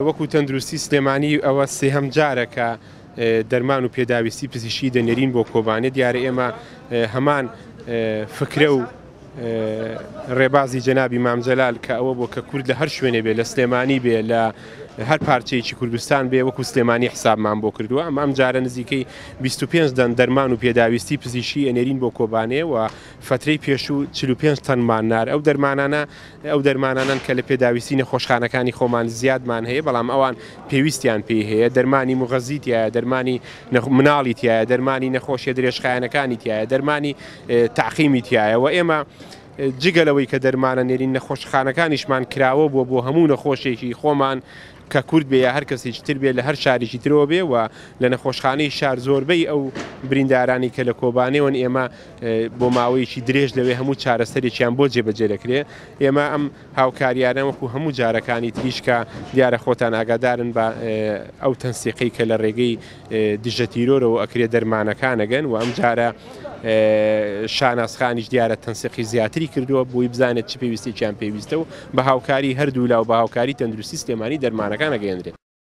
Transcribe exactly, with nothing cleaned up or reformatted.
وەکو تەندروستی سلێمانی ئەوە سێهەم جارە کە دەرمان و پێداویستی پزیشکی دەنێرین بۆ کۆبانێ. دیارە ئێمە هەمان فکرە و ڕێبازی جەنابی مام جەلال کە ئەوە بۆ کە کورد لە هەر شوێنێ بێ، لە سلێمانی بێ، لە هەر پارچەیەکی کوردستان بێ، وەکو سلێمانی حسابمان بۆ کردووە. ئەمە ئەم جارە نزیکەی بیست و پێنج دەن دەرمان و پێداویستی پزیشکی ئەنێرین بۆ کۆبانێ و فترەی پێشوو چل و پێنج تەنمان نار. ئەو دەرمانانە ئەو دەرمانانن کە لە پێداویستی نەخۆشخانەکانی خۆمان زیادمان هەیە، بەڵام ئەوان پێویستیان پێی هەیە. دەرمانی مغەزی تایە، دەرمانی مناڵی تایە، دەرمانی نەخۆشیە درێژخایەنەکانی تایە، دەرمانی تەعقیمی تایە. و ئێمە جگە لەوەی کە دەرمانە نێرین نەخۆشخانەکانیشمان کراوە بووە بۆ هەموو نەخۆشێکی خۆمان کە کورد بێ یا هەر کەسێکی تر بێ لە هەر شارێکی ترەوە بێ و لە نەخۆشخانەی شار زۆربەی ئەو بریندارانی کە لە کۆبانێوەن ئێمە بۆ ماوەیەکی درێژ لەوێ هەموو چارەسەرێکیان بۆ جێبەجێ دەکرێت. ئێمە ئەم هاوکاریانە وەکو هەموو جارەکانی تریشکە دیارە خۆتان ئاگادارن بە ئەو تەنسیقی کە لە ڕێگەی دژە تیرۆرەوە ئەکرێ دەرمانەکانەگەن و ئەم جارە شانازخانیش دیارە تەنسیقی زیاتری کردووە بۆی بزانێت چ پێویستێکیان پێویستە و بە هاوکاری هەردوو لا و بە هاوکاری تەندروستی سلێمانی دەرمانەکان ئەگەیەندرێت.